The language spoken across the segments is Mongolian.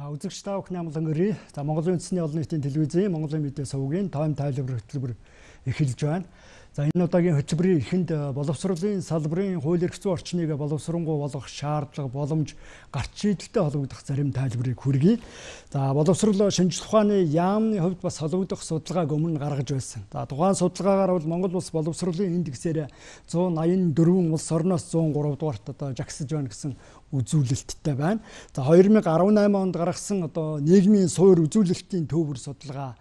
Үзэгч та бүхний амлан өрий. За Монголын үндэсний олон нийтийн телевизийн Монголын мэдээ сувгийн тойм тайлбар хөтөлбөр эхэлж байна. За энэ удаагийн хөтөлбөрийн эхэнд боловсролын салбарын хууль эрх зүйн орчныг боловсронгуй болгох шаардлага, боломж, гарч шийдэлтэй холбогдох зарим тайлбарыг хүргэе. За боловсрол шинжлэх ухааны яамны хувьд бас холбогдох судалгааг өмнө гаргаж байсан. За тухайн судалгаагаар бол Монгол улс боловсролын индексээр 184 улс орноос 103 дугаарт жагсаж байна гэсэн үзүүлэлттэй байна. За 2018 онд гаргасан нийгмийн суур үзүүлэлтийн төвөр судалгаа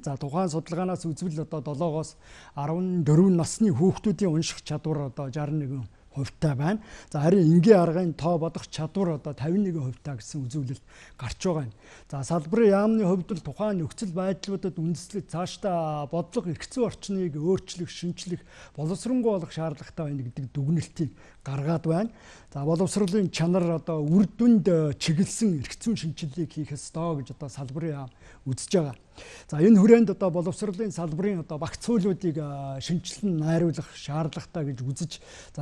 за тухайн судалгаанаас үзвэл 7-оос 14 насны хүүхдүүдийн унших чадвар 61%-тай байна. За харин энгийн аргын тоо бодох чадвар 51%-тай гэсэн үзүүлэлт гарч байгаа юм. За салбарын яамны хувьд л тухайн нөхцөл байдлуудад үндэслэж цаашдаа бодлого эрх зүйн орчныг өөрчлөх, шинчлэх, боловсронгуй болох шаардлагатай байна гэдэг дүгнэлтийг гаргаад байна. За боловсролын чанар үр дүнд чиглэсэн эрх зүйн шинжилгээг хийх ёстой гэж салбарын яам үзэж байгаа. За энэ хүрээнд боловсролын салбарын багц хуулиудыг шинжилэн найруулах шаардлагатай гэж үзэж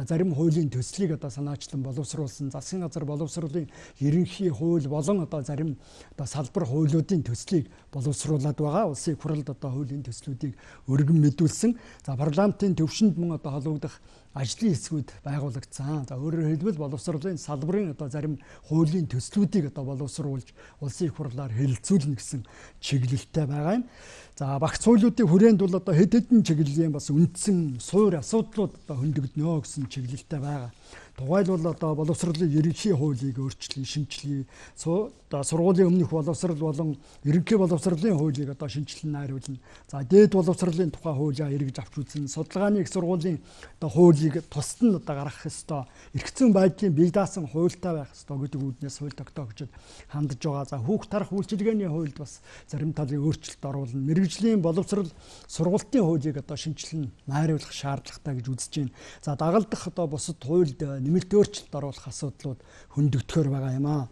зарим хуулийн төслийг санаачлан боловсруулсан. Засгийн газар боловсролын ерөнхий хууль болон зарим салбар хуулиудын төслийг боловсруулад байгаа. Улсын их хурлд хуулийн төслүүдийг өргөн мэдүүлсэн. За парламентын төвшөнд мөн холбогдох ажлын хэсгүүд байгуулагдсан. За өөрөөр хэлбэл боловсролын салбарын зарим хуулийн төслүүдийг боловсруулж улсын их хурлаар хэлэлцүүлнэ гэсэн чиглэлтэй байгаа юм. За багц хуулиудын хүрээнд бол хэд хэдэн чиглэлийн бас үндсэн суур асуудлууд хөндөгднө гэсэн чиглэлтэй байгаа. Тухайлбал боловсролын ерөнхий хуулийг өөрчлөе, шинжилье. Сургуулийн өмнөх боловсрол болон ерөнхий боловсролын хуулийг шинжилэн найруулна. За дээд боловсролын тухай хуулиа эргэж авч үзнэ. Судалгааны их сургуулийн хуулийг тусад нь гаргах ёстой. Эрх зүйн байдлын бие даасан хуультай байх ёстой гэдэг үүднээс хууль тогтоогчид хандж байгаа. За хүүхд тарах үйлчилгээний хуульд бас зарим талын өөрчлөлт оруулна. Мэргэжлийн боловсрол сургалтын хуулийг шинжилэн найруулах шаардлагатай гэж үзэж байна. За дагалдах бусад хуульд нэмэлт өөрчлөлт оруулах асуудлууд хөндөгдөхөр байгаа юм аа.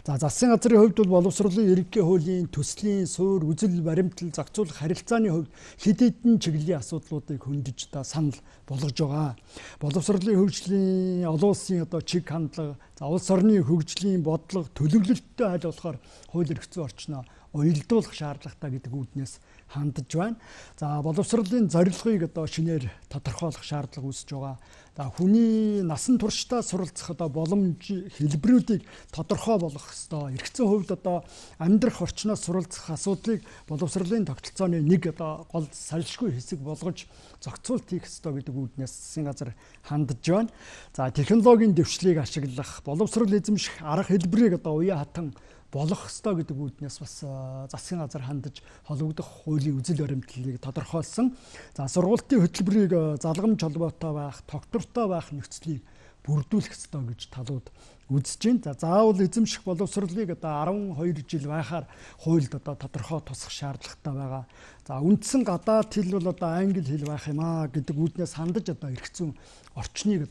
За засгийн газрын хувьд бол боловсролын ерөнхий хуулийн төслийн суур үзэл баримтал зохицуулах харилцааны хувьд хэд хэдэн чиглэлийн асуудлуудыг хөндөж санал болгож байгаа. Боловсролын хөгжлийн олон улсын чиг хандлага, улс орны хөгжлийн бодлого, төлөвлөлттэй аль болохоор хууль эрх зүйн орчноо уялдуулах шаардлагатай гэдэг үүднээс хандж байна. За боловсролын зорилгыг шинээр тодорхойлох шаардлага үүсэж байгаа. Хүний насан туршдаа суралцах боломж хэлбэрүүдийг тодорхой болгох ёстой. Эрх зүйн хувьд амьдрах орчноос суралцах асуудлыг боловсролын тогтолцооны нэг гол салшгүй хэсэг болгож зохицуулт хийх ёстой гэдэг үүднээс засгийн газар хандж байна. За технологийн дэвшлийг ашиглах, боловсрол эзэмших арга хэлбэрийг уян хатан болох ёстой гэдэг үүднээс бас засгийн газар хандж холбогдох хуулийн үзэл баримтлалыг тодорхойлсон. За сургалтын хөтөлбөрийг залгамж холбоотой байх, тогтвортой байх нөхцөлийг бүрдүүлэх ёстой гэж талууд үзэж байна. За заавал эзэмших боловсролыг 12 жил байхаар хуульд тодорхой тусах шаардлагатай байгаа. За үндсэн гадаад хэл бол англи хэл байх юм аа гэдэг үүднээс хандаж эрх зүйн орчныг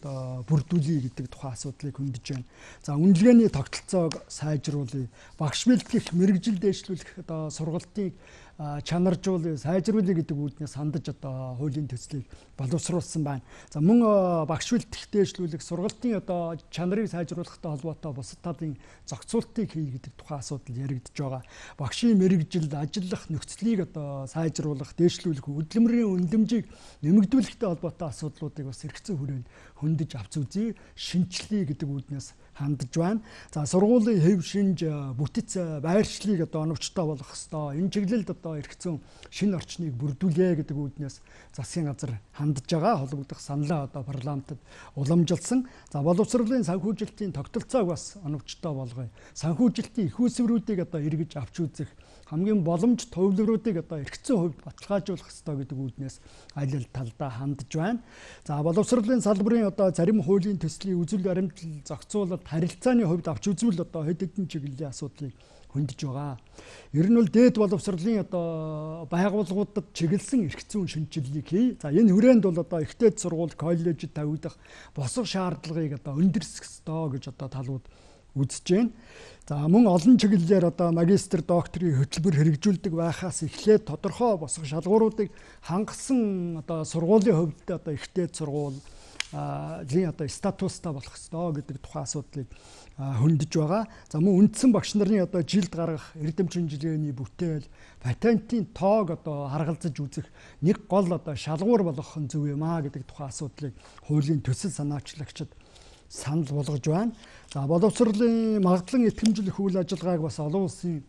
бүрдүүлэе гэдэг тухайн асуудлыг хөндөж байна. За үнэлгээний тогтолцоог сайжруулъя. Багш бэлтгэх, мэргэжил дэвшлүүлэх сургалтыг чанаржуулъя, сайжруулъя гэдэг үүднээс хандаж хуулийн төслийг боловсруулсан байна. За мөн багш бэлтгэх, дэвшлүүлэх, сургалтын чанарыг сайжруулахтай холбоотой бусад талын зохицуултыг хий гэдэг тухайн асуудал яригдж байгаа. Багшийн мэргэжил, ажиллах нөхцөлийг сайжруулах, дэвшлүүлэх, хөдөлмөрийн үнэлэмжийг нэмэгдүүлэхтэй холбоотой асуудлуудыг бас эрх зүйн хүрээнд хөндөж авч үзье, шинчлэе гэдэг үүднээс хандж байна. За сургуулийн хэв шинж, бүтэц, байршлыг оновчтой болгох ёстой. Энэ чиглэлд эрх зүйн шинэ орчныг бүрдүүлье гэдэг үүднээс засгийн газар хандж байгаа. Холбогдох саналаа парламентод уламжилсан. За боловсролын санхүүжилтийн тогтолцоог бас оновчтой болгоё. Санхүүжилтийн их үүсвэрүүдийг эргэж авч үзэх, хамгийн боломж төвлөрүүдийг эрх зүйн хувьд баталгаажуулах ёстой гэдэг үүднээс аль аль талдаа хандж байна. За боловсролын салбарын зарим хуулийн төслийн үзэл баримтлал зохицуулалт харилцааны хувьд авч үзвэл хэд хэдэн чиглэлийн асуудлыг хөндөж байгаа. Ер нь бол дээд боловсролын байгууллагуудад чиглэсэн эрх зүйн шинжилгээг хий. За энэ хүрээнд бол ихтэй сургууль, коллежид тавигдах босго шаардлагыг өндөрсөх ёстой гэж талууд үзэж байна. За мөн олон чиглэлээр магистр, докторийн хөтөлбөр хэрэгжүүлдэг байхаас эхлээд тодорхой босго шалгууруудыг хангасан сургуулийн хувьд ихтэй сургууль, одоо статустай болох ёстой гэдэг тухайн асуудлыг хөндөж байгаа. За мөн үндсэн багш нарын одоо жилд гаргах эрдэм шинжилгээний бүтээл, патентын тоог одоо харгалзаж үзэх нэг гол одоо шалгуур болгох нь зөв юм аа гэдэг тухайн асуудлыг хуулийн төсөл санаачлагчид санал болгож байна. За боловсролын магадлан итгэмжлэх үйл ажиллагааг бас олон улсын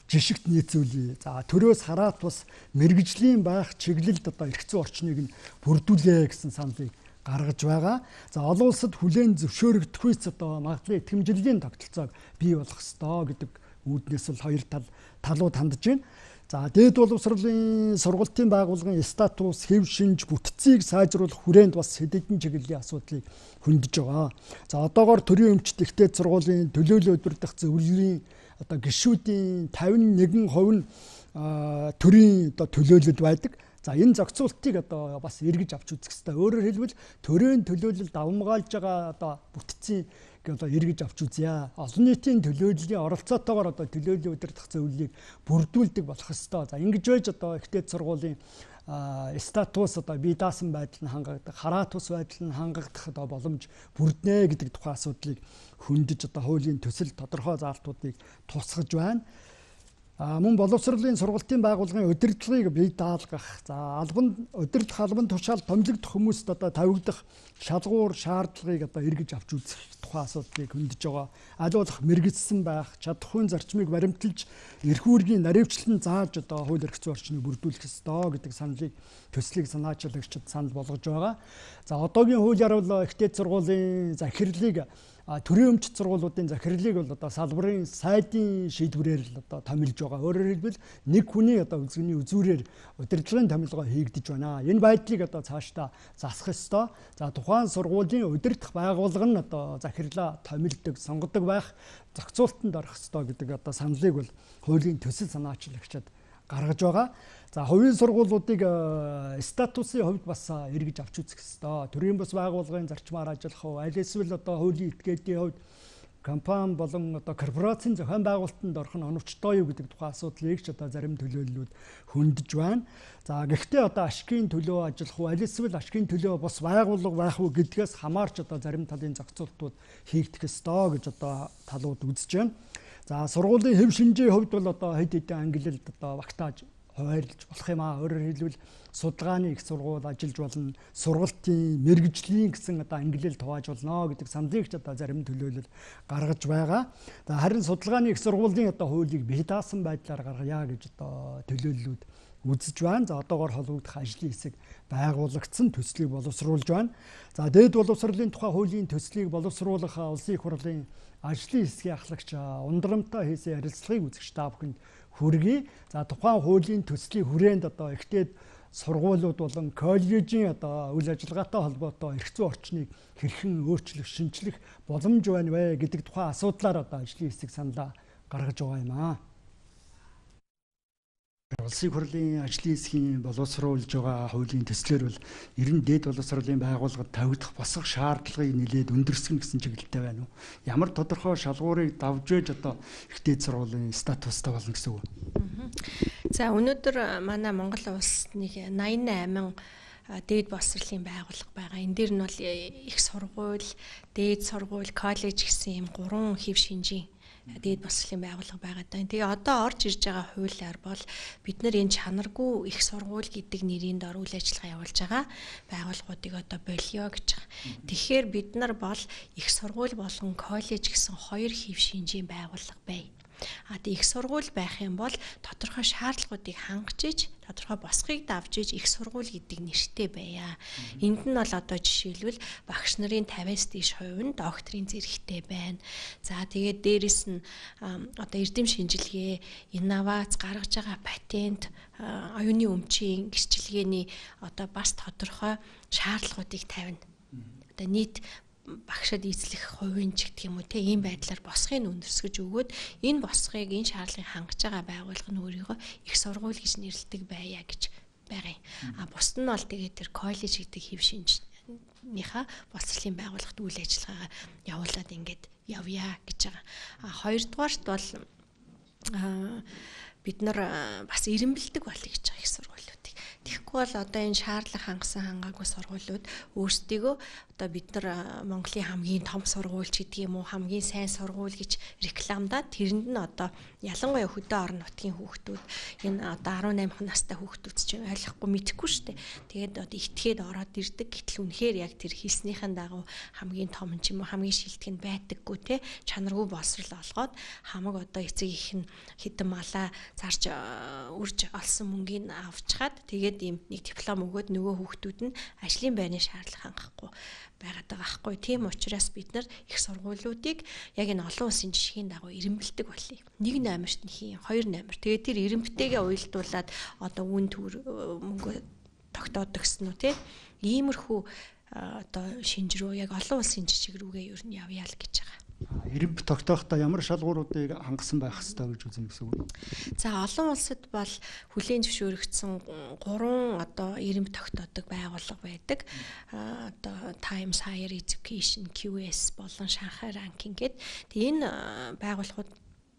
жишгт нийцүүлье. За төрөөс хараат бас мэрэгжлийн байх чиглэлд одоо эрх зүйн орчныг нь бүрдүүлээ гэсэн саналыг гаргаж байгаа. За олон улсад хүлээн зөвшөөрөгдөхүйц одоо магадлан итгэмжлэлийн тогтолцоог бий болгох ёстой гэдэг үүднээс л хоёр талууд хандж байна. За дээд боловсролын сургалтын байгууллагын статус, хэв шинж, бүтцийг сайжруулах хүрээнд бас хэдэн чиглэлийн асуудлыг хөндөж байгаа. За одоогоор төрийн өмчт ихтэй сургуулийн төлөөлөл удирдах зөвлөлийн одоо гишүүдийн 51% нь төрийн одоо төлөөлөлд байдаг. За энэ зохицуултыг одоо бас эргэж авч үзэх хэрэгтэй. Өөрөөр хэлбэл төрийн төлөөлөлд давмгаалж байгаа одоо бүтцийн одоо эргэж авч үзье. Олон нийтийн төлөөллийн оролцоотойгоор одоо төлөөллийн удирдах зөвлөлийг бүрдүүлдэг болох ёстой. За ингэж байж одоо ихтэй сургуулийн статус одоо бие даасан байдал нь хангагдах, хараат ус байдал нь хангагдах одоо боломж бүрднэ гэдэг тухайн асуудлыг хөндөж одоо хуулийн төсөл тодорхой заалтуудыг тусгаж байна. Мөн боловсролын сургалтын байгууллагын удирдлагыг бие даалгах, за удирдах албан тушаал томилогдох хүмүүст одоо тавигдах шалгуур шаардлагыг одоо эргэж авч үзэх тухайн асуудлыг хөндөж байгаа. Аль болох мэрэгдсэн байх, чадахуйн зарчмыг баримталж, эрх үүргийн наривчлан зааж одоо хууль эрх зүйн орчныг бүрдүүлэх ёстой гэдэг саналыг төслийг санаачлагчид санал болгож байгаа. За одоогийн хуулиар бол ихтэй сургуулийн захирлыг төрийн өмчт сургуулиудын захирлыг бол одоо салбарын сайдын шийдвэрээр л одоо томилж байгаа. Өөрөөр хэлбэл нэг хүний одоо үзэгний үзүүрээр удирдлагын томилгоо хийгдэж байна. Энэ байдлыг одоо цаашдаа засах ёстой. За тухайн сургуулийн удирдах байгууллага нь одоо захирлаа томилдог, сонгодог байх, зохицуултанд орох ёстой гэдэг одоо саналыг бол хуулийн төсөл санаачлагчид гаргаж байгаа. За хувийн сургуулиудыг статусын хувьд бас эргэж авч үзэх ёстой. Төрийн бас байгууллагын зарчмаар ажиллах уу, аль эсвэл одоо хуулийн этгээдийн хувьд компани болон одоо корпорацийн зохион байгуулалтанд орох нь оновчтой юу гэдэг тухайн асуудлыг ч одоо зарим төлөөллүүд хөндөж байна. За гэхдээ одоо ашигын төлөө ажиллах уу, аль эсвэл ашигын төлөө бас байгууллага байх уу гэдгээс хамаарч одоо зарим талын зохицуултууд хийгдэх ёстой гэж одоо талууд үзэж байна. За сургуулийн хэв шинжийн хувьд бол одоо хэд хэдэн ангиллалд одоо багтааж хуваарлж болох юм аа. Өөрөөр хэлбэл судалгааны их сургууль ажиллаж болно, сургалтын мэрэгжлийн гэсэн одоо ангиллал хувааж болно гэдэг саналыг ч одоо зарим төлөөлөл гаргаж байгаа. Харин судалгааны их сургуулийн одоо хуулийг бие даасан байдлаар гаргая гэж одоо төлөөллүүд үзэж байна. За одоогоор холбогдох ажлын хэсэг байгуулагдсан, төслийг боловсруулж байна. За дээд боловсролын тухай хуулийн төслийг боловсруулах улсын их хурлын ажлын хэсгийн ахлагч Ундарамтай хийсэн ярилцлагыг үзэгч та бүхэнд хүргэе. За тухайн хуулийн төслийн хүрээнд одоо ихтэй сургуулиуд болон коллежийн одоо үйл ажиллагаатай холбоотой эрх зүйн орчныг хэрхэн өөрчлөх, шинжлэх боломж байна вэ гэдэг тухайн асуудлаар одоо ажлын хэсэг саналаа гаргаж байгаа юм аа. Улсын хурлын ажлын хэсгийн боловсруулж байгаа хуулийн төслөөр бол ер нь дээд боловсролын байгууллагад тавигдах босох шаардлагыг нэлээд өндөрсгөн гэсэн чиглэлтэй байна уу? Ямар тодорхой шалгуурыг давж ээж одоо их дээд сургуулийн статустай болно гэсэн үг. За өнөөдөр манай Монгол улс нэг 88 дээд боловсролын байгууллага байгаа. Энэ дээр нь бол их сургууль, дээд сургууль, коллеж гэсэн ийм 3 хэв шинжийн дээд боловсролын байгууллага байгаа даа. Тэгээ одоо орж ирж байгаа хуулиар бол бид нар энэ чанаргүй их сургууль гэдэг нэрийн дор үйл ажиллагаа явуулж байгаа байгууллагуудыг одоо болио гэж байгаа. Тэгэхээр бид нар бол их сургууль болон коллеж гэсэн 2 хэв шинжийн байгууллага бай. Их сургууль байх юм бол тодорхой шаардлагуудыг хангаж иж, тодорхой босхийг давж иж их сургууль гэдэг нэртэй байя. Энд нь бол одоо жишээлбэл багш нарын 50-аас дээш хувь нь докторийн зэрэгтэй байна. За тэгээд дээрэс нь одоо эрдэм шинжилгээ, инновац гаргаж байгаа патент, оюуны өмчийн гэрчилгээний одоо бас тодорхой шаардлагуудыг тавина. Одоо нийт багшад эзлэх хувийн ч гэх юм уу те ийм байдлаар босхыг өндөрсгөж өгөөд энэ босхыг энэ шаардлагыг хангаж байгаа байгууллага нь өөрийгөө их сургууль гэж нэрлэдэг байя гэж байгаа юм. Бусд нь бол тэгээд тэр коллеж гэдэг хэв шинжнийхаа боловсролын байгууллагт үйл ажиллагаагаа явуулаад ингээд явъя гэж байгаа. Хоёрдугаарт бол бид нар бас ирэмбэлдэг болъё гэж байгаа их сургуулиудыг. Тэгэхгүй бол одоо энэ шаардлага хангасан хангаагүй сургуулиуд өөрсдийгөө одоо бид нар Монголын хамгийн том сургууль ч гэдэг юм уу хамгийн сайн сургууль гэж рекламдаад тэрэнд нь одоо ялангуяа хөдөө орон нутгийн хүүхдүүд энэ одоо 18 настай хүүхдүүд ч ойлгохгүй мэдэхгүй шүү дээ. Тэгээд одоо итгээд ороод ирдэг. Гэтэл үнэхээр яг тэр хэлснийхэн дагуу хамгийн том ч юм уу хамгийн шилдэг нь байдаггүй те чанаргүй боловсрол олгоод хамаг одоо эцэг их нь хідэн малаа зарж үрж олсон мөнгийг авчгаад тэгээд ийм нэг диплом өгөөд нөгөө хүүхдүүд нь ажлын байрны шаардлага хангахгүй байгаад байгаа байхгүй. Тийм учраас бид нар их сургуулиудыг яг энэ олон улсын жишгийн дагуу ирэмбэлдэг болъё. 1 номерт нь хийн, 2 номер. Тэгээд тэр ирэмбтэйгээ уялдуулаад одоо үн төр мөнгө тогтоод өгсөн үү те. Иймэрхүү одоо шинж рүү яг олон улсын жишг рүүгээ ер нь явъя л гэж байгаа. Ирэмб тогтоохдоо ямар шалгууруудыг хангасан байх ёстой гэж үзнэ гэсэн үг. За олон улсад бол хүлээн зөвшөөрөгдсөн 3 одоо ирэмб тогтоодог байгууллага байдаг. Одоо Times Higher Education, QS болон Шанхай ранкинг гэдэг. Энэ байгууллагууд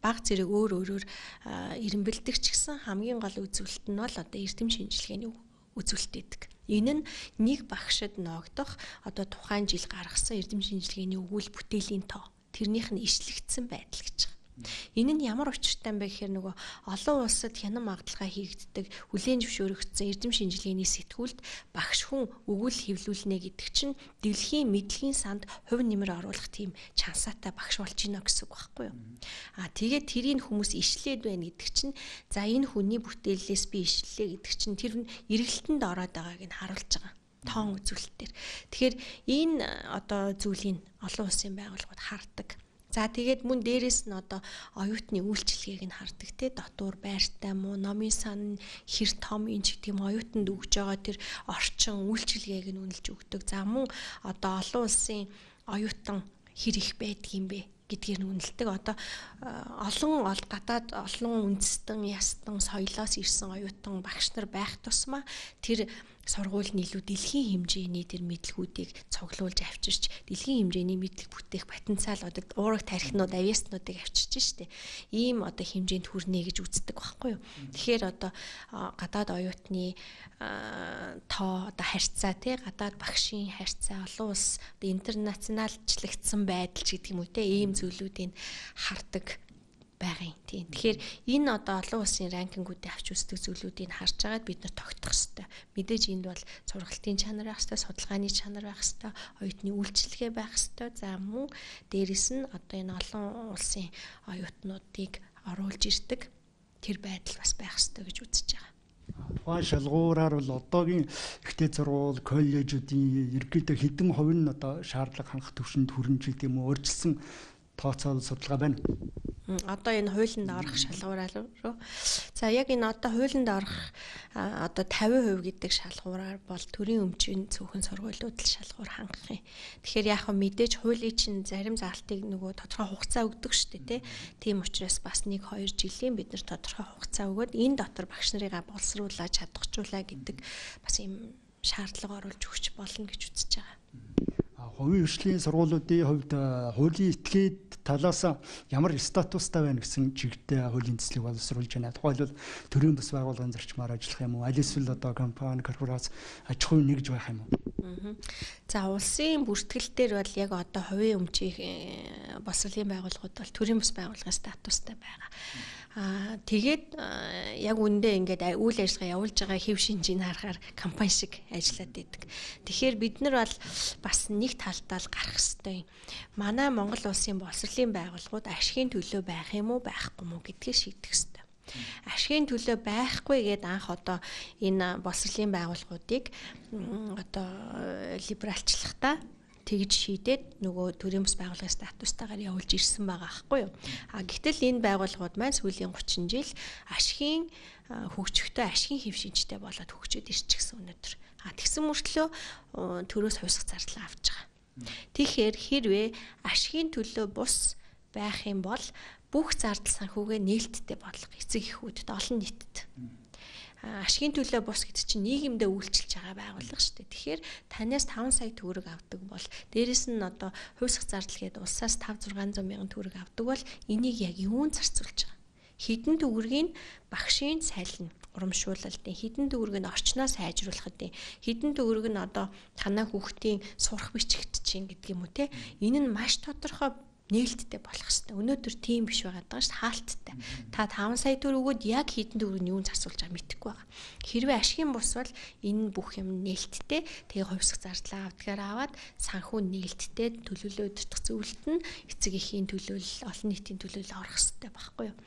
баг зэрэг өөрөөр ирэмбэлдэг ч гэсэн хамгийн гол үзүүлэлт нь бол одоо эрдэм шинжилгээний үзүүлэлт гэдэг. Энэ нь нэг багшид ногдох одоо тухайн жил гаргасан эрдэм шинжилгээний өгүүл бүтээлийн тоо тэрнийх нь ишлэгдсэн байдал гэж байгаа. Энэ нь ямар учиртай юм бэ гэхээр нөгөө олон улсад хянан магадлалгаа хийгддэг хүлээн зөвшөөрөгдсөн эрдэм шинжилгээний сэтгүүлд багш хүн өгүүл хэвлүүлнэ гэдэг чинь дэлхийн мэдлэгийн санд хувь нэмэр оруулах тийм чансаатай багш болж гинэ гэсэн үг байхгүй юу? Тэгээд тэрийг хүмүүс ишлээд байна гэдэг чинь за энэ хүний бүтээлээс би ишлэлээ гэдэг чинь тэр эргэлтэнд ороод байгааг нь харуулж байгаа. Тоон үзүүлэлтээр. Тэгэхээр энэ одоо зүйлийг олон улсын байгууллагууд хардаг. За тэгээд мөн дээрэс нь одоо оюутны үйлчилгээг нь хардаг те дотуур байртай муу номын сан хэр том энэ ч гэдэг юм оюутанд өгж байгаа тэр орчин үйлчилгээг нь үнэлж өгдөг. За мөн одоо олон улсын оюутан хэр их байдгийм бэ гэдгээр нь үнэлдэг. Одоо олон гадаад олон үндэстэн ястан соёлоос ирсэн оюутан багш нар байх тусмаа тэр сургууль нь илүү дэлхийн хэмжээний тэр мэдлгүүдийг цуглуулж авчирч дэлхийн хэмжээний мэдлэг бүтээх потенциалуудад уурах тархинууд авиаснуудыг авчирч штэ. Ийм одоо хэмжээнд хүрнэ гэж үздэг байхгүй юу. Тэгэхээр одоо гадаад оюутны тоо одоо харьцаа тий гадаад багшийн харьцаа олон улс одоо интернационалчлагдсан байдал ч гэдэг юм уу те ийм зүйлүүдийг хардаг байгаа юм тийм. Тэгэхээр энэ одоо олон улсын ранкингуудыг авч үздэг зүйлүүдийг харж агаад бид нар тогтох хэрэгтэй. Мэдээж энд бол сургалтын чанар байх хэрэгтэй, судалгааны чанар байх хэрэгтэй, оюутны үйлчилгээ байх хэрэгтэй. За мөн дээрэс нь одоо энэ олон улсын оюутнуудыг оруулж ирдэг тэр байдал бас байх хэрэгтэй гэж үзэж байгаа. Тухайн шалгуураар бол одоогийн ихтэй сургууль, коллежүүдийн ерөнхийдөө хэдэн хувь нь одоо шаардлага хангах түвшинд хүрэн ч гэдэг юм уу өөрчилсөн тооцоол судалгаа байна. Одоо энэ хуулинд орох шалгуураар руу. За яг энэ одоо хуулинд орох одоо 50% гэдэг шалгуураар бол төрийн өмчийн цөөхөн сургуулиуд л шалгуур хангах юм. Тэгэхээр яг мэдээж хуулийн чинь зарим заалтыг нөгөө тодорхой хугацаа өгдөг шүү дээ, тийм учраас бас 1-2 жилийн бид нар тодорхой хугацаа өгөөд энэ дотор багш нарыгаа боловсруулаад чадахжуулаа гэдэг бас ийм шаардлага оруулж өгч болно гэж үзэж байгаа. Хувийн хөгжлийн сургуулиудын хувьд хуулийн этгээд талаас ямар статустай байна гэсэн чигтээ хуулийн төслийг боловсруулж байна. Тухайлбал төрийн бас байгууллагын зарчмаар ажиллах юм уу? Аль эсвэл одоо компани, корпорац аж ахуйн нэгж байх юм уу? За улсын бүртгэлтэр бол яг одоо хувийн өмчийн боловсролын байгууллагууд бол төрийн бас байгууллагын статустай байгаа. Тэгээд яг үндэ ингээд үйл ажиллагаа явуулж байгаа хэв шинжийг харахаар компани шиг ажиллаад байдаг. Тэгэхээр бид нар бол бас нэг талдаа л гарах ёстой. Манай Монгол улсын боловсролын байгууллагууд ашигын төлөө байх юм уу байхгүй мүү гэдгийг шийдэх ёстой. Ашигын төлөө байхгүй гэд анх одоо энэ боловсролын байгууллагуудыг одоо либералчлахдаа тэгж шийдээд нөгөө төрийн бас байгууллагын статустайгаар явуулж ирсэн байгаа аахгүй юу. Гэтэл энэ байгууллагууд маань сүүлийн 30 жил ашигын хөгжихтэй ашигын хэв шинжтэй болоод хөгжөөд ирчихсэн өнөөдөр. Тэгсэн мөртлөө төрөөс хувьсах зардал авч байгаа. Тэгэхээр хэрвээ ашигын төлөө бус байх юм бол бүх зардал санхүүгээ нээлттэй бодлого эцэг эхүүдэд олон нийтэд ашигын төлөө бус гэдэг чинь нийгэмдээ үйлчилж байгаа байгууллага шүү дээ. Тэгэхээр танаас 5 сая төгрөг авдаг бол дээрэс нь одоо хувьсах зардал гээд улсаас 5-600 мянган төгрөг авдаг бол энийг яг юунд зарцуулж байгаа? Хідэн төгрөгийг багшийн салхин урамшуулалтын, хідэн төгрөгийг орчноо сайжруулахын, хідэн төгрөг нь одоо танай хүүхдийн сурах бичигт чинь гэдэг юм уу те. Энэ нь маш тодорхой нээлттэй болох хэрэгтэй. Өнөөдөр тийм биш байгаа даа ш хаалттай. Та 5 сая төгрөг өгөөд яг хідэн төгрөг нь юунд засуулж байгааг мэдэхгүй байгаа. Хэрвээ ашигын бус бол энэ бүх юм нээлттэй. Тэгээ хувьсах зардлаа авдгаар аваад санхүү нээлттэй төлөвлөлөө өдөртөх зөвлөлт нь эцэг эхийн төлөөлөл, олон нийтийн төлөөлөл орох хэрэгтэй байхгүй юу?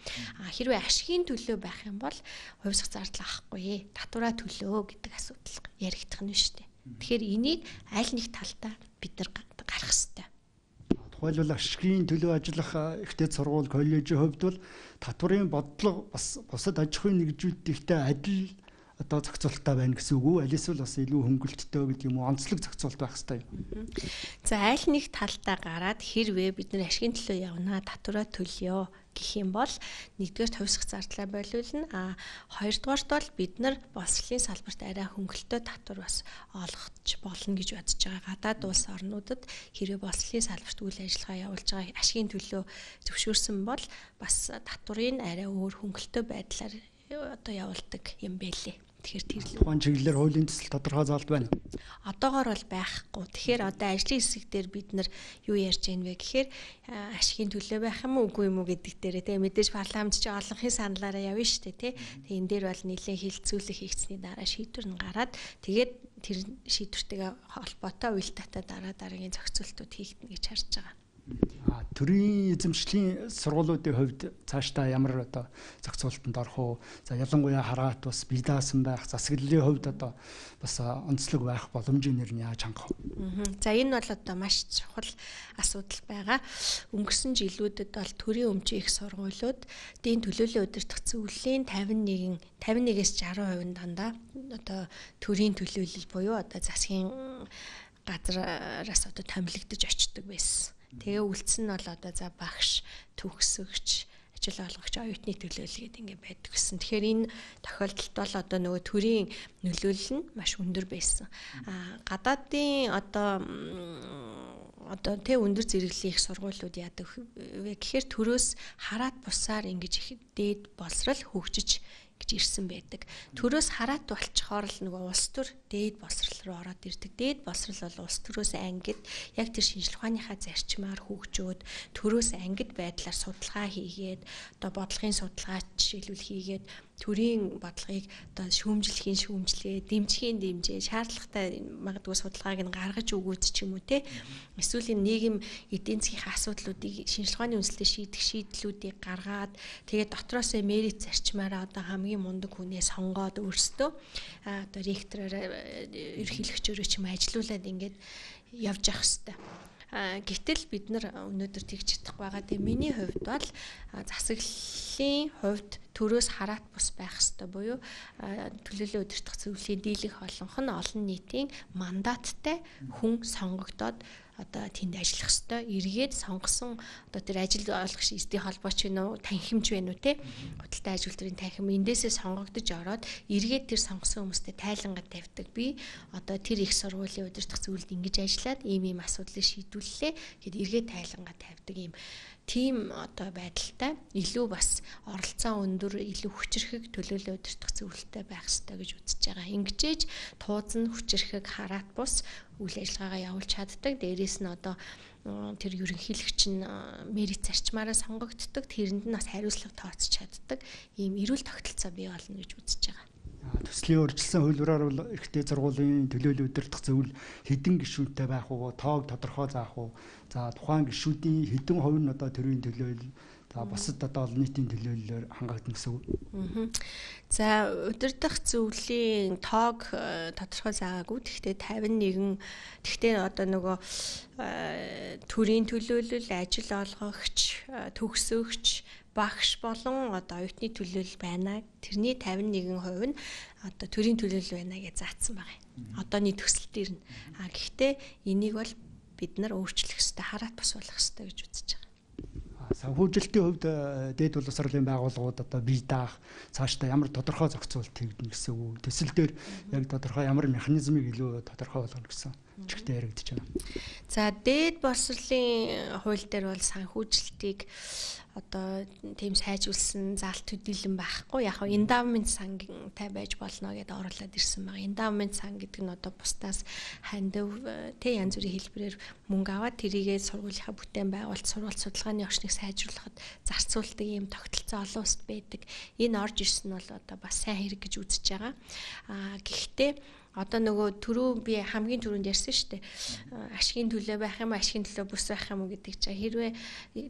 Хэрвээ ашигын төлөө байх юм бол хувьсах зардал авахгүй. Татвараа төлөө гэдэг асуудал яригдах нь шүү дээ. Тэгэхээр энийг аль нэг талдаа бид нар гарах хэрэгтэй. Тухайлбал ашигын төлөө ажиллах ихтэй сургууль, коллежийн хувьд бол татварын бодлого бас бусад аж ахуйн нэгжүүдтэй адил одоо зохицуулалттай байна гэсэн үг үү? Алис бол бас илүү хөнгөлөлттэй гэдэг юм уу? Онцлог зохицуулалт байх хэрэгтэй юм. За аль нэг талдаа гараад хэрвээ бид нар ашигын төлөө явна, татвараа төлөё гэх юм бол нэгдүгээр хувьсах зардлаа болиулна. Хоёрдугаарт бол бид нар боловсролын салбарт арай хөнгөлөлтөө татвар бас олгож болно гэж бодож байгаа. Гадаад улс орнуудад хэрвээ боловсролын салбарт үйл ажиллагаа явуулж байгаа ашигын төлөө зөвшөөрсөн бол бас татварын арай өөр хөнгөлөлтөө байдлаар одоо явуулдаг юм байлээ. Тэгэхээр тэр тухайн чиглэлээр хуулийн төсөл тодорхой заалт байна. Одоогоор бол байхгүй. Тэгэхээр одоо ажлын хэсэг дээр бид нар юу ярьж байна вэ гэхээр ашигын төлөө байх юм уу үгүй юм уу гэдэг дээрээ тэгээ мэдээж парламент чи олонхын саналаараа явна шүү дээ тий. Тэгээ энэ дээр бол нэлээд хилцүүлэг хийгдсэний дараа шийдвэр нь гараад тэгээд тэр шийдвэртэйгээ холбоотой уялдаатай дараагийн зохицуултууд хийгдэнэ гэж харж байгаа. Төрийн эзэмшлийн сургуулиудын хувьд цаашдаа ямар одоо зохицуулалтанд орох уу? За ялангуяа хараат бас бие даасан байх, засаглалын хувьд одоо бас онцлог байх боломжийн нэр нь яаж хангах вэ? За энэ бол одоо маш чухал асуудал байгаа. Өнгөрсөн жилүүдэд бол төрийн өмчийн их сургуулиуд дийн төлөөллийн удирдах зөвлөлийн 51-ээс 60% дандаа одоо төрийн төлөөлөл буюу одоо засгийн газраас одоо томилогдож очдог байсан. Тэгээ үлдсэн нь бол одоо за багш, төгсөгч, ажил олгогч, оюутны төлөөлөл гэдэг ингэ байдаг гэсэн. Тэгэхээр энэ тохиолдолд бол одоо нөгөө төрийн нөлөөлөл нь маш өндөр байсан. Гадаадын одоо өндөр зэрэглэлийн их сургуулиуд яадаг вэ гэхээр төрөөс хараат бусаар ингэж их дээд боловсрал хөгжиж гэж ирсэн байдаг. Төрөөс хараат болчихоор л нөгөө улс төр дээд боловсрал руу ороод ирдэг. Дээд боловсрал бол улс төрөөс ангид яг тэр шинжлэх ухааныхаа зарчмаар хөгжөөд төрөөс ангид байдлаар судалгаа хийгээд одоо бодлогын судалгаа жишээлбэл хийгээд төрийн бодлогыг одоо шүүмжлэгээ, дэмжихийн дэмжээ, шаардлагатай магадгүй судалгааг нь гаргаж өгөөд ч юм уу те. Эсвэл нийгэм эдийн засгийн асуудлуудыг шинжлэх ухааны үндэслэлээр шийдэх шийдлүүдийг гаргаад тэгээд дотроос мерит зарчмаараа одоо хамгийн мундаг хүнээ сонгоод өөрсдөө одоо ректороор ерөнхийлөгчөөрөө ч юм ажилуулад ингээд явж явах хэрэгтэй. Гэтэл бид нар өнөөдөр тэгж чадахгүй байгаа. Тэгээ миний хувьд бол засаглалын хувьд төрөөс хараат бус байх хэрэгтэй буюу төлөөллийн удирдах зөвлөлийн дийлэх олонх нь олон нийтийн мандаттай хүн сонгогдоод одоо тэнд ажиллах ёстой. Эргээд сонгосон одоо тэр ажил олгогч эсдийн холбооч вэ нүү, танхимч вэ нүү те. Худалдаа ажилтны танхим эндээсээ сонгогдож ороод эргээд тэр сонгосон хүмүүстэй тайлангаа тавьдаг. Би одоо тэр их сургуулийн удирдах зөвлөлд ингэж ажиллаад ийм асуудлыг шийдвүллээ гэд эргээд тайлангаа тавьдаг ийм тийм одоо байдалтай илүү бас оролцоо өндөр, илүү хүчирхэг төлөөлөл удирдах зөвлөлттэй байх ёстой гэж үзэж байгаа. Ингэжээж тууз нь хүчирхэг хараат бус үйл ажиллагаагаа явуулж чаддаг. Дээрээс нь одоо тэр ерөнхийлөгч нь мерит зарчмаараа сонгогддог. Тэрэнд нь бас хариуцлага тооцож чаддаг. Ийм эрүүл тогтолцоо бий болно гэж үзэж байгаа. Төслийн өөрчлөсөн хуулиараар бол эрхтэй сургуулийн төлөөлөл удирдах зөвлөл хэдэн гишүүнтэй байх уу, тоог тодорхой заах уу. За тухайн гишүүдийн хэдэн хувь нь одоо төрийн төлөөлөл, за бусад одоо олон нийтийн төлөөллөөр хангагдана гэсэн үг. За удирдах зөвлөлийн тоог тодорхой заагаагүй. Гэхдээ 51 гэхдээ одоо нөгөө төрийн төлөөлөл, ажил олгогч, төгсөгч, багш болон одоо оюутны төлөөлөл байна. Тэрний 51% нь одоо төрийн төлөөлөл байна гэж заасан байгаа юм. Одооний төсөл дээр нь. Гэхдээ энийг бол бид нар өөрчлөх ёстой, хараат бус болгох ёстой гэж үзэж байгаа. Санхүүжилтийн хувьд дээд боловсролын байгууллагууд одоо бие даах цаашдаа ямар тодорхой зохицуулалт хийгдэнэ гэсэн үг. Төсөл дээр яг тодорхой ямар механизмыг илүү тодорхой болгоно гэсэн чигтээ яригдж байна. За дээд боловсролын хууль дээр бол санхүүжилтийг одоо тийм сайжруулсан заалт төдийлөн байхгүй. Яг нь эндавмент сантай байж болно гэдээ оруулаад ирсэн байна. Эндавмент сан гэдэг нь одоо бусдаас хандив тэ янз бүрийн хэлбэрээр мөнгө аваад тэрийгээ сургуулийнхаа бүтээн байгуулалт, сургууль судалгааны орчныг сайжруулахад зарцуулдаг ийм тогтолцоо олон улсад байдаг. Энэ орж ирсэн нь бол одоо бас сайн хэрэг гэж үзэж байгаа. Гэхдээ одоо нөгөө түрүү би хамгийн түрүүнд ярьсан шүү дээ. Ашигын төлөө байх юм, ашигын төлөө бус байх юм гэдэг чинь хэрвээ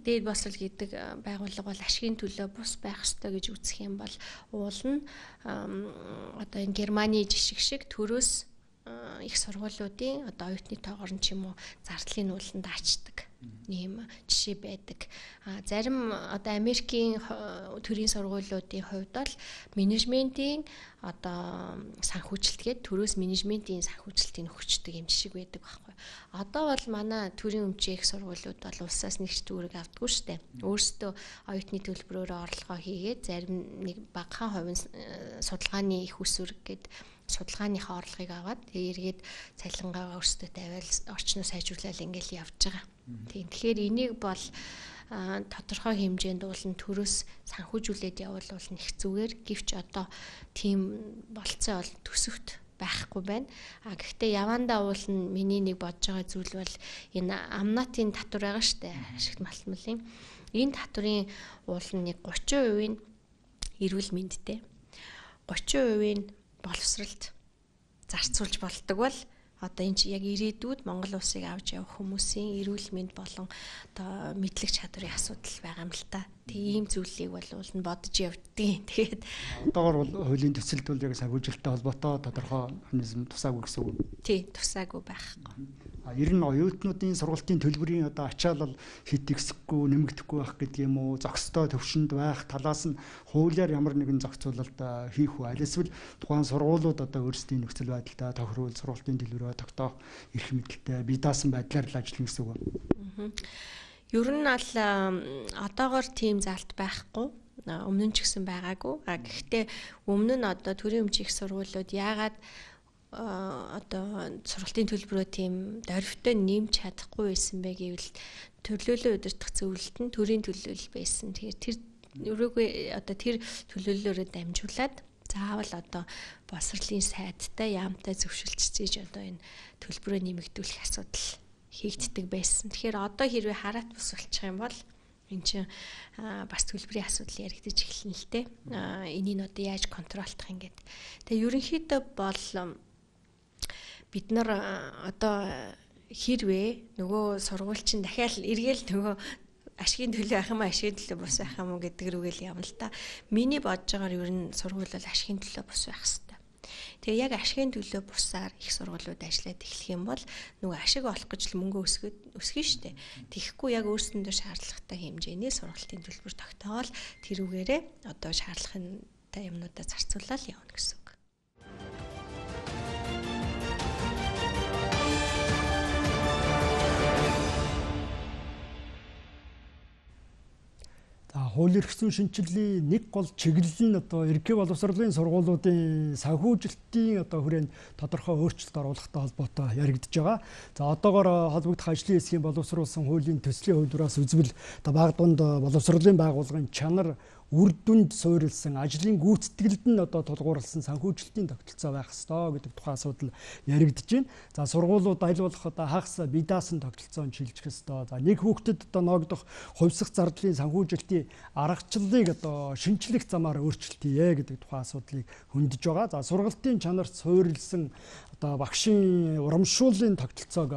дээд боловсрол гэдэг байгууллага бол ашигын төлөө бус байх ёстой гэж үзэх юм бол уул нь одоо энэ Германы жишг шиг төрөөс их сургуулиудын одоо оюутны тоогоор нь ч юм уу зардлын ууланд ачдаг ийм жишээ байдаг. Зарим одоо Америкийн төрийн сургуулиудын хувьд бол менежментийн одоо санхүүжилтгээд төрөөс менежментийн санхүүжилтийг өгчдөг юм шиг байдаг байхгүй. Одоо бол манай төрийн өмчийн их сургуулиуд бол улсаас нэгч төгрөг авдаггүй шүү дээ. Өөрсдөө оюутны төлбөрөөр орлогоо хийгээд зарим нэг багахан хувийн судалгааны их усүрэг гээд судалгааныхаа орлогыг аваад эргээд цалингаа өөрсдөө тавиал орчноо сайжруулаад ингээл явж байгаа. Тэгэхээр энийг бол тодорхой хэмжээнд уулын төрөөс санхүүжүүлээд явуулвал нэг зүгээр гэвч одоо тийм болцоо бол төсөвт байхгүй байна. Гэхдээ явандаа уулын миний нэг бодож байгаа зүйл бол энэ амнатын татвар байгаа штэ ашигт малтмалын. Энэ татврын уулын нэг 30% нь эрүүл мэндтэй. 30% нь боловсролд зарцуулж болдог бол одоо энэ яг ирээдүйд Монгол улсыг авч явах хүмүүсийн эрүүл мэнд болон одоо мэдлэг чадварын асуудал байгаа юм л та. Тийм зүйлийг бол уулна бодож явдгийн. Тэгээд одоогор бол хуулийн төсөлд бол яг санхүүжилттэй холбоотой тодорхой механизм тусаагүй гэсэн үг. Тий, тусаагүй байхгүй. Ер нь оюутнуудын сургалтын төлбөрийн одоо ачаалал хит ихсэхгүй нэмэгдэхгүй байх гэдэг юм уу, зохистой төвшөнд байх талаас нь хуулиар ямар нэгэн зохицуулалт хийх үү? Аль эсвэл тухайн сургуулиуд одоо өөрсдийн нөхцөл байдалтай тохируул сургалтын төлбөрөө тогтоох эрх мэдэлтэй бие даасан байдлаар л ажиллана гэсэн үг. Ер нь бол одоогор тийм залт байхгүй. Өмнө нь ч гэсэн байгаагүй. Гэхдээ өмнө нь одоо төрийн өмчийн их сургуулиуд яагаад одоо сургалтын төлбөрөө тийм дорвитой нэмж чадахгүй байсан бэ гэвэл төлөөлөл удирдах зөвлөлт нь төрийн төлөөлөл байсан. Тэгэхээр тэр өрөөгөө одоо тэр төлөөллөөрөө дамжуулаад заавал одоо боловсролын сайдтай яамтай зөвшөлтсөж одоо энэ төлбөрөө нэмэгдүүлэх асуудал хийгддэг байсан. Тэгэхээр одоо хэрвээ хараат бус болчих юм бол энэ чинь бас төлбөрийн асуудал яригдаж эхэлнэ л дээ. Энийг одоо яаж контролдох юм гээд. Тэгээ ерөнхийдөө бол бид нар одоо хэрвээ нөгөө сургууль чинь дахиад эргээл нөгөө ашигын төлөө ах юм ашигын төлөө бус ах юм гэдэг рүүгээл явна л та. Миний бодож байгаагаар ер нь сургууль бол ашигын төлөө бус байх хэрэгтэй. Тэгээ яг ашигын төлөө бусаар их сургуулиуд ажиллаад эхлэх юм бол нөгөө ашиг олох гэж л мөнгө өсгөн штэ. Тэгэхгүй яг өөрсөндөө шаардлагатай хэмжээний сургалтын төлбөр тогтоол тэрүүгээрээ одоо шаардлагатай юмнуудаа зарцуулаад явна гэсэн. Хууль эрх зүйн шинжилгээний нэг гол чиглэл нь одоо ерөнхий боловсролын сургуулиудын санхүүжилтийн одоо хүрээнд тодорхой өөрчлөлт оруулахтай холбоотой яригдж байгаа. За одоогоор холбогдох ажлын хэсгийн боловсруулсан хуулийн төслийн хувьдраас үзвэл одоо баг дунд боловсролын байгууллагын чанар үр дүнд суурилсан ажлын гүйцэтгэлд нь одоо тулгуурласан санхүүжилтийн тогтолцоо байх ёстой гэдэг тухайн асуудал яригдж байна. За сургуулиуд аль болох одоо хагас бие даасан тогтолцоонд шилжих ёстой. За нэг хүүхдэд одоо ногдох хувьсах зардлын санхүүжилтийн аргачлалыг одоо шинжлэх замаар өөрчлөлт хийе гэдэг тухайн асуудлыг хөндөж байгаа. За сургалтын чанарт суурилсан одоо багшийн урамшууллын тогтолцоог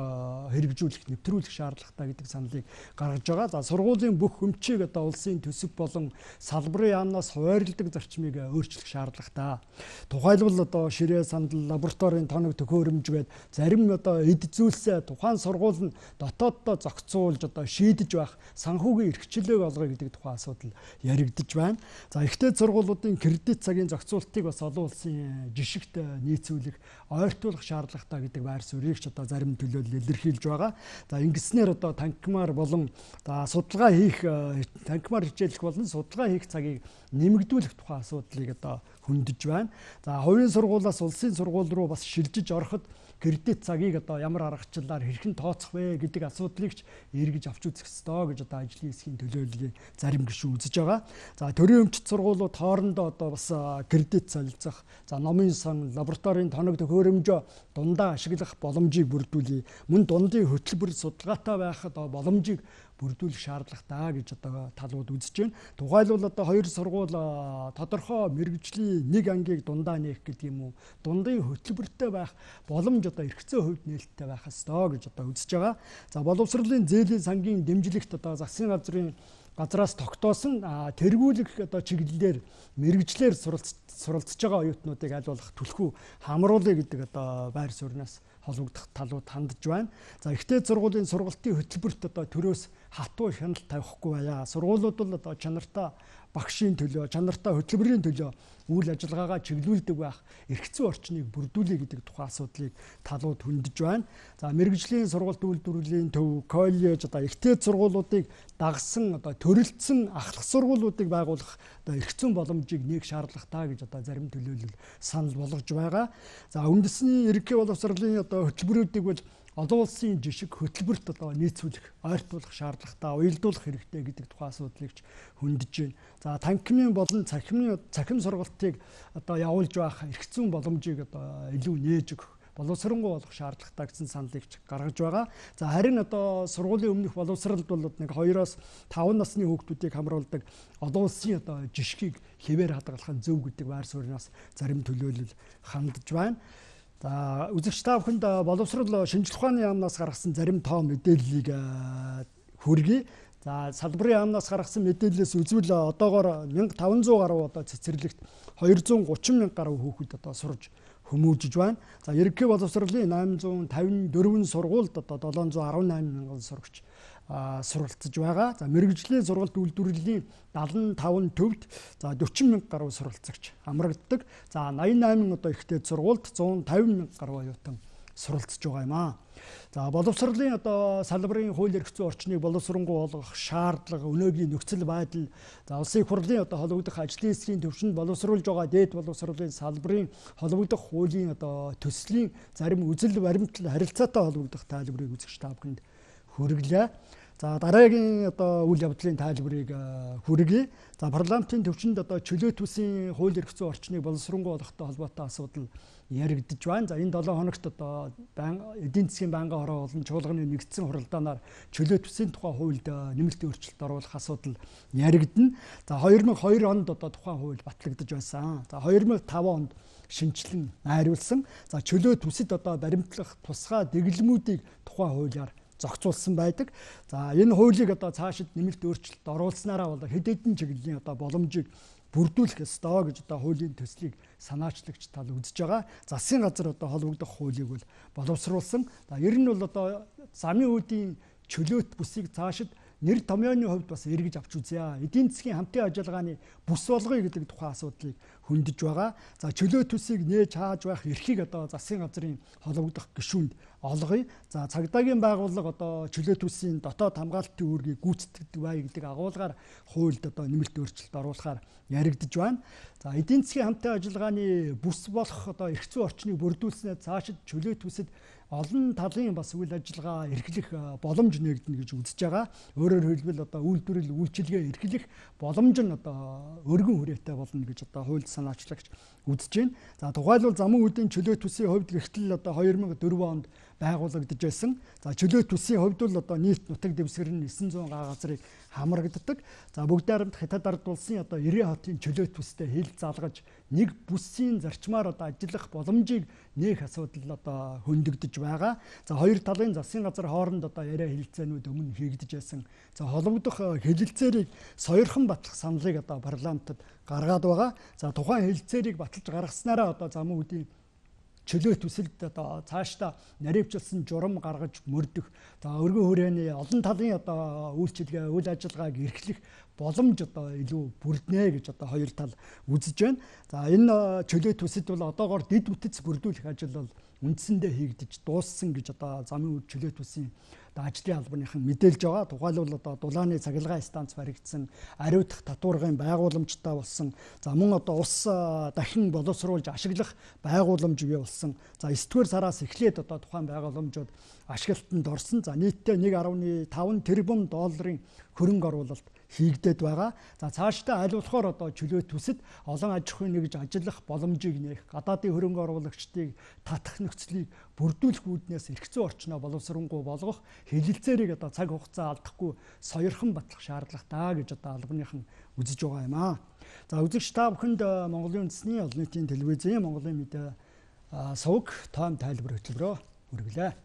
хэрэгжүүлэх, нэвтрүүлэх шаардлагатай гэдэг саналыг гаргаж байгаа. За сургуулийн бүх өмчийг одоо улсын төсөв болон салбарын яамнаас хуваарлдаг зарчмыг өөрчлөх шаардлагатай. Тухайлбал одоо ширээ сандал, лабораторийн тоног төхөөрөмжгээд зарим одоо эд зүйлсээ тухайн сургууль нь дотооддоо зохицуулж одоо шийдэж байх санхүүгийн эрхчлөлөг олгоё гэдэг тухайн асуудал яригдж байна. За ихтэй сургуулиудын кредит цагийн зохицуултыг бас олон улсын жишгт нийцүүлэх, ойртуулах шаардлагатай гэдэг байр суурийг ч одоо зарим төлөөлөл илэрхийлж байгаа. За ингэснээр одоо танхимаар болон судалгаа хийх, танхимаар хичээлэх болон судалгаа хийх цагийг нэмэгдүүлэх тухайн асуудлыг одоо хөндөж байна. За хувийн сургуулиас улсын сургууль руу бас шилжиж ороход кредит цагийг одоо ямар аргачлалаар хэрхэн тооцох вэ гэдэг асуудлыг ч эргэж авч үзэх ёстой гэж одоо ажлын хэсгийн төлөөллийн зарим гишүүн үзэж байгаа. За төрийн өмчт сургуулиуд хоорондоо одоо бас кредит солилцох, за номын сан, лабораторийн тоног төхөөрөмжөө дундаа ашиглах боломжийг бүрдүүлье. Мөн дундын хөтөлбөр судалгаатай байх одоо боломжийг бүрдүүлэх шаардлагатай гэж одоо талууд үзэж байна. Тухайлбал одоо хоёр сургууль тодорхой мэргэжлийн нэг ангийг дундаа нээх гэдэг юм уу, дундын хөтөлбөртэй байх боломж одоо эрхцээ хувьд нээлттэй байх ёстой гэж одоо үзэж байгаа. За боловсролын зээлийн сангийн дэмжлэгт одоо засгийн газраас тогтоосон тэргүүлэх одоо чиглэлээр мэргэжлэр суралцж байгаа оюутнуудыг аль болох түлхүү хамруулъя гэдэг одоо байр сууриас холбогдох талууд хандж байна. За ихтэй сургуулийн сургалтын хөтөлбөрт одоо төрөөс хатуу хяналт тавихгүй байя. Сургуулиуд бол одоо чанартай багшийн төлөө, чанартай хөтөлбөрийн төлөө үйл ажиллагаагаа чиглүүлдэг байх эрхцэн орчныг бүрдүүлэх гэдэг тухайн асуудлыг талууд хөндөж байна. За мэргэжлийн сургалт үйлдвэрлэлийн төв, коллеж одоо ихтэй сургуулиудыг дагсан одоо төрөлцсөн ахлах сургуулиудыг байгуулах одоо эрхцэн боломжийг нээх шаардлагатай гэж одоо зарим төлөөлөл санал болгож байгаа. За үндэсний ерөнхий боловсролын одоо хөтөлбөрүүдийг бол олон улсын жишг хөтөлбөрт одоо нийцүүлэх, ойртуулах шаардлагатай, уялдуулах хэрэгтэй гэдэг тухайн асуудлыг ч хөндөж байна. За танхимын болон цахим сургалтыг одоо явуулж байх эрхцэн боломжийг одоо илүү нээж өгөх, боловсронгуй болох шаардлагатай гэсэн саналыг ч гаргаж байгаа. За харин одоо сургуулийн өмнөх боловсролд бол нэг 2-5 насны хүүхдүүдийг хамруулдаг олон улсын одоо жишгийг хэвээр хадгалах нь зөв гэдэг байр сууриас зарим төлөөлөл хандж байна. За үзэгч та бүхэнд боловсрол шинжилгээ ухааны яамнаас гаргасан зарим тоо мэдээллийг хүргэе. За салбарын яамнаас гаргасан мэдээллээс үзвэл одоогоор 1500 гаруй одоо цэцэрлэгт 230 мянга гаруй хүүхэд одоо сурж хүмүүжиж байна. За ерөнхий боловсролын 854 сургуульд одоо 718 мянган сурагч суралцж байгаа. За мэргэжлийн сургалт үйлдвэрлэлийн 75 төвд за 40 мянга гаруй суралцагч амрагддаг. За 88 одоо ихтэй сургуульд 150 мянга гаруй оюутан суралцж байгаа юм аа. За боловсролын одоо салбарын хууль эрх зүйн орчныг боловсронгуй болгох шаардлага, өнөөгийн нөхцөл байдал, за улсын хурлын одоо холбогдох ажлын хэсгийн төвшөнд боловсруулж байгаа дээд боловсролын салбарын холбогдох хуулийн одоо төслийн зарим үзэл баримтлал харилцаатай холбогдох тайлбарыг үзэгч та бүхэнд хүргэлээ. За дараагийн одоо үйл явдлын тайлбарыг хүргэе. За парламентын төвчөнд одоо чөлөөт үсийн хууль эрх зүйн орчныг боловсронгуй болгохтой холбоотой асуудал яригдж байна. За энэ 7 хоногт одоо эдийн засгийн байнгын хороо болон чуулганы нэгдсэн хуралдаанаар чөлөөт үсийн тухай хуульд нэмэлт өөрчлөлт оруулах асуудал яригдана. За 2002 онд одоо тухайн хууль батлагдаж байсан. За 2005 онд шинжилэн найруулсан. За чөлөөт үсэд одоо баримтлах тусгай дэглэмүүдийг тухайн хуулиар зохицуулсан байдаг. За энэ хуулийг одоо цаашид нэмэлт өөрчлөлт оруулснараа бол хэд хэдэн чиглэлийн одоо боломжийг бүрдүүлэх ёстой гэж одоо хуулийн төслийг санаачлагч тал үзэж байгаа. Засгийн газар одоо холбогдох хуулийг бол боловсруулсан. За ер нь бол одоо замын үүдийн чөлөөт бүсийг цаашид нэр томьёоны хувьд бас эргэж авч үзье. Эдийн засгийн хамтын ажиллагааны бүс болгоё гэдэг тухайн асуудлыг хөндөж байгаа. За чөлөөт үсийг нээж хааж байх эрхийг одоо засгийн газрын холбогдох гишүүнд олгоё. За цагдаагийн байгууллага одоо чөлөөт үсийн дотоод хамгаалтын үүргийг гүйцэтгэдэг бай гэдэг агуулгаар хуульд одоо нэмэлт өөрчлөлт оруулахаар яригдж байна. За эдийн засгийн хамтын ажиллагааны бүс болох одоо эрх зүйн орчныг бүрдүүлснээр цаашид чөлөөт үсэд олон талын бас үйл ажиллагаа эрхлэх боломж нэгдэнэ гэж үзэж байгаа. Өөрөөр хэлбэл одоо үйлдвэрлэл үйлчилгээ эрхлэх боломж нь одоо өргөн хүрээтэй болно гэж одоо хууль санаачлагч үзэж байна. За тухайлбал замун үүдийн чөлөөт үсийн хувьд гэртэл одоо 2004 онд байгуулагдаж байсан. За чөлөөт үсийн хувьд бол одоо нийт нутаг дэвсгэр нь 900 га газрыг хамрагддаг. За бүгд найрамд хятад ард улсын одоо 90 хотын чөлөөт үстэй хил залгаж нэг бүсийн зарчмаар одоо ажиллах боломжийг нээх асуудал одоо хөндөгдөж байгаа. За хоёр талын засгийн газар хооронд одоо яриа хэлэлцээнүүд өмнө хийгдэж байсан. За холбогдох хэлэлцээрийг сойрхон батлах саналыг одоо парламентод гаргаад байгаа. За тухайн хэлэлцээрийг баталж гаргаснараа одоо замун үүдийн чөлөөт үсэлд одоо цаашдаа наривчлсан журам гаргаж мөрдөх, за өргөн хүрээний олон талын одоо үйлчилгээ, үйл ажиллагааг эрхлэх боломж одоо илүү бүрднэ гэж одоо хоёр тал үзэж байна. За энэ чөлөөт үсэд бол одоогоор дэд үтэц бүрдүүлэх ажил бол үндсэндээ хийгдэж дууссан гэж одоо замын чөлөөт үсийн ажлын албаныхан мэдээлж байгаа. Тухайлбал одоо дулааны цахилгаан станц баригдсан, ариутгах татваргын байгууламжтай болсон. За мөн одоо ус дахин боловсруулж ашиглах байгууламж бий болсон. За 9-р сараас эхлээд одоо тухайн байгууламжууд ашиглалтанд орсон. За нийтдээ 1.5 тэрбум долларын хөрөнгө оруулалт хийгдээд байгаа. За цаашдаа аль болохоор одоо чөлөөт төсөд олон аж ахуйн нэгж ажиллах боломжийг нээх, гадаадын хөрөнгө оруулагчдыг татах нөхцөлийг бүрдүүлэх үүднээс эрх зүйн орчноо боловсронгуй болгох, хэлэлцээрийг одоо цаг хугацаа алдахгүй сойрхон батлах шаардлагатай гэж одоо албаныхан үзэж байгаа юм аа. За үзэгч та бүхэнд Монголын үндэсний олон нийтийн телевизийн Монголын мэдээ сувг тоон тайлбар хөтөлбөрөөр хүргэлээ.